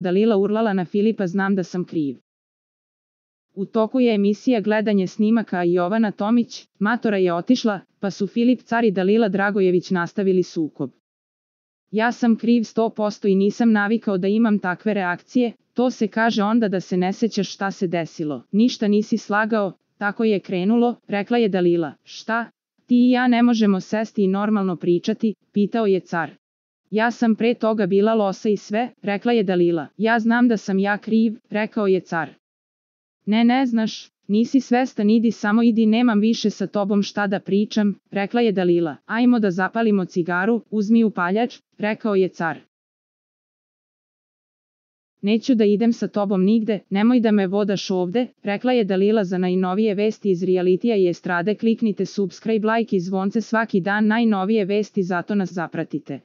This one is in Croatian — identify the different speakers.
Speaker 1: Dalila urlala na Filipa, znam da sam kriv. U toku je emisija gledanje snimaka, a Jovana Tomić, matora, je otišla, pa su Filip Car i Dalila Dragojević nastavili sukob. Ja sam kriv 100% i nisam navikao da imam takve reakcije, to se kaže onda da se ne sećaš šta se desilo. Ništa nisi slagao, tako je krenulo, rekla je Dalila. Šta? Ti i ja ne možemo sesti i normalno pričati, pitao je Car. Ja sam pre toga bila losa i sve, rekla je Dalila. Ja znam da sam ja kriv, rekao je Car. Ne znaš, nisi svestan, idi samo idi, nemam više sa tobom šta da pričam, rekla je Dalila. Ajmo da zapalimo cigaru, uzmi upaljač, rekao je Car. Neću da idem sa tobom nigde, nemoj da me vodaš ovde, rekla je Dalila. Za najnovije vesti iz realitija i estrade kliknite subscribe, like i zvonce svaki dan, najnovije vesti, zato nas zapratite.